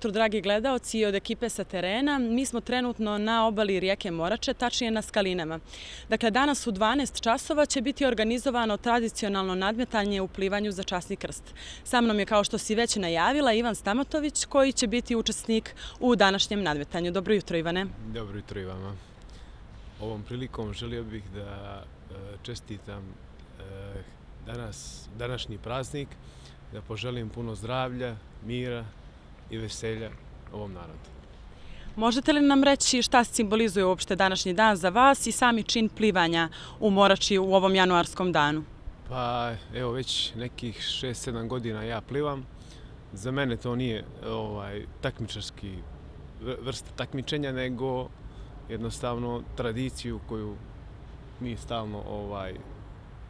jutro, dragi gledaoci, i od ekipe sa terena. Mi smo trenutno na obali rijeke Morače, tačnije na Skalinama. Dakle, danas u 12 časova će biti organizovano tradicionalno nadmetanje u plivanju za časni krst. Sa mnom je, kao što si već najavila, Ivan Stamatović, koji će biti učesnik u današnjem nadmetanju. Dobro jutro, Ivane. Dobro jutro i vama. Ovom prilikom želio bih da čestitam današnji praznik, da poželim puno zdravlja, mira i veselja ovom narodu. Možete li nam reći šta simbolizuje uopšte današnji dan za vas i sami čin plivanja u Morači u ovom januarskom danu? Pa evo, već nekih 6-7 godina ja plivam. Za mene to nije takmičarski vrsta takmičenja, nego jednostavno tradiciju koju mi stalno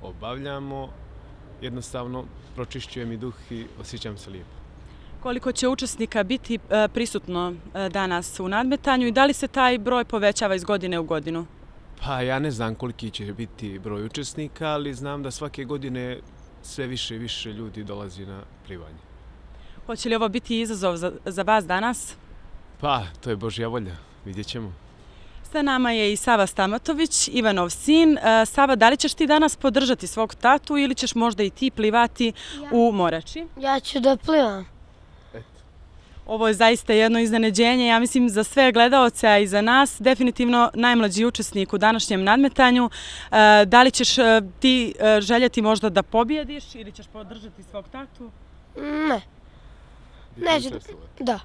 obavljamo. Jednostavno pročišćuje mi duh i osjećam se lijepo. Koliko će učesnika biti prisutno danas u nadmetanju i da li se taj broj povećava iz godine u godinu? Pa ja ne znam koliki će biti broj učesnika, ali znam da svake godine sve više i više ljudi dolazi na plivanje. Hoće li ovo biti izazov za vas danas? Pa, to je Božja volja, vidjet ćemo. Sa nama je i Sava Stamatović, Ivanov sin. Sava, da li ćeš ti danas podržati svog tatu ili ćeš možda i ti plivati u Morači? Ja ću da plivam. Ovo je zaista jedno iznenađenje, ja mislim, za sve gledaoce, a i za nas. Definitivno najmlađi učesnik u današnjem nadmetanju. Da li ćeš ti željeti možda da pobjediš ili ćeš podržati svog tatu? Ne. Neću. Da.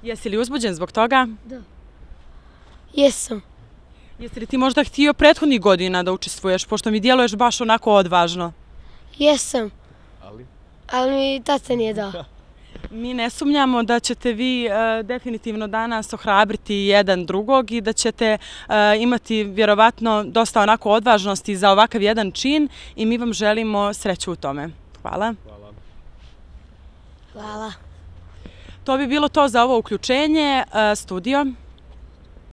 Jesi li uzbuđen zbog toga? Da. Jesam. Jesi li ti možda htio prethodnih godina da učestvuješ, pošto mi djeluješ baš onako odvažno? Jesam. Ali mi tata nije dao. Mi ne sumnjamo da ćete vi definitivno danas ohrabriti jedan drugog i da ćete imati vjerovatno dosta onako odvažnosti za ovakav jedan čin i mi vam želimo sreću u tome. Hvala. Hvala. To bi bilo to za ovo uključenje. Studio.